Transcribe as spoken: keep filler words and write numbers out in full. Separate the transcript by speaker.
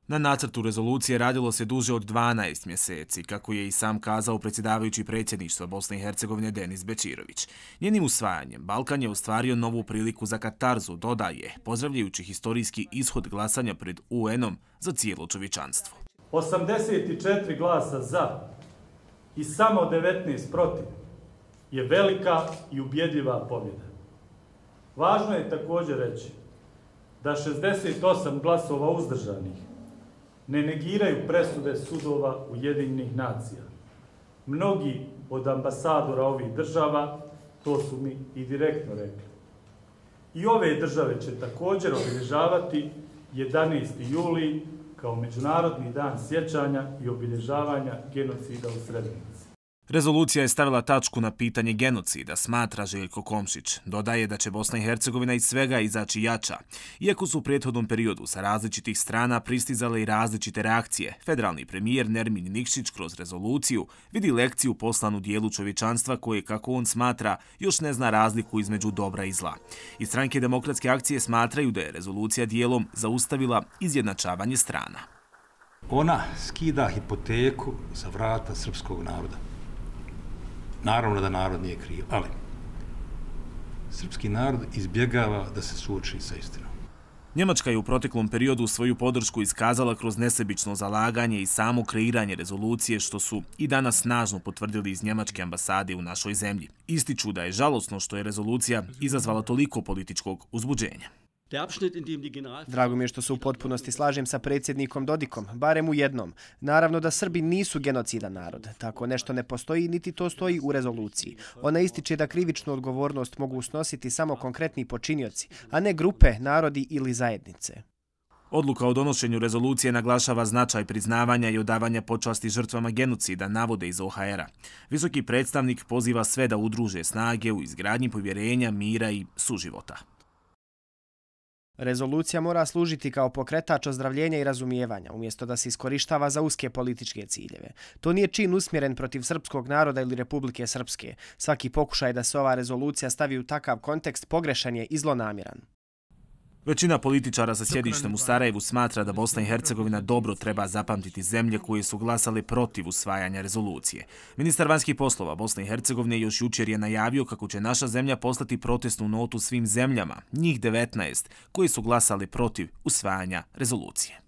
Speaker 1: Na nacrtu rezolucije radilo se duže od dvanaest mjeseci, kako je i sam kazao predsjedavajući predsjedništva Bosne i Hercegovine Denis Bećirović. Njenim usvajanjem Balkan je ostvario novu priliku za katarzu, dodaje, pozdravljajući historijski ishod glasanja pred U N-om za cijelo čovječanstvo.
Speaker 2: osamdeset četiri glasa za i samo devetnaest protiv je velika i ubjedljiva pobjeda. Važno je također reći da šezdeset osam glasova uzdržanih ne negiraju presude sudova Ujedinjenih nacija. Mnogi od ambasadora ovih država to su mi i direktno rekli. I ove države će također obilježavati jedanaesti juli kao Međunarodni dan sjećanja i obilježavanja genocida u Srebrenici.
Speaker 1: Rezolucija je stavila tačku na pitanje genocida, smatra Željko Komšić. Dodaje da će Bosna i Hercegovina iz svega izaći jača. Iako su u prethodnom periodu sa različitih strana pristizale i različite reakcije, federalni premijer Nermin Nikšić kroz rezoluciju vidi lekciju poslanu dijelu čovječanstva koje, kako on smatra, još ne zna razliku između dobra i zla. Iz stranke Demokratske akcije smatraju da je rezolucija dijelom zaustavila izjednačavanje strana.
Speaker 3: Ona skida hipoteku za vrata srpskog naroda. Naravno da narod nije kriv, ali srpski narod izbjegava da se suoči sa istinom.
Speaker 1: Njemačka je u proteklom periodu svoju podršku iskazala kroz nesebično zalaganje i samo kreiranje rezolucije, što su i danas snažno potvrdili iz njemačke ambasade u našoj zemlji. Ističu da je žalosno što je rezolucija izazvala toliko političkog uzbuđenja.
Speaker 4: Drago mi je što se u potpunosti slažem sa predsjednikom Dodikom, barem u jednom. Naravno da Srbi nisu genocidan narod. Tako nešto ne postoji, niti to stoji u rezoluciji. Ona ističe da krivičnu odgovornost mogu snositi samo konkretni počinioci, a ne grupe, narodi ili zajednice.
Speaker 1: Odluka o donošenju rezolucije naglašava značaj priznavanja i odavanja počasti žrtvama genocida, navode iz O H R-a. Visoki predstavnik poziva sve da udruže snage u izgradnji povjerenja, mira i suživota.
Speaker 4: Rezolucija mora služiti kao pokretač ozdravljenja i razumijevanja, umjesto da se iskorištava za uske političke ciljeve. To nije čin usmjeren protiv srpskog naroda ili Republike Srpske. Svaki pokušaj da se ova rezolucija stavi u takav kontekst pogrešan je i zlonamjeran.
Speaker 1: Većina političara sa sjedištem u Sarajevu smatra da Bosna i Hercegovina dobro treba zapamtiti zemlje koje su glasale protiv usvajanja rezolucije. Ministar vanjskih poslova Bosne i Hercegovine još jučer je najavio kako će naša zemlja poslati protestnu notu svim zemljama, njih devetnaest, koje su glasale protiv usvajanja rezolucije.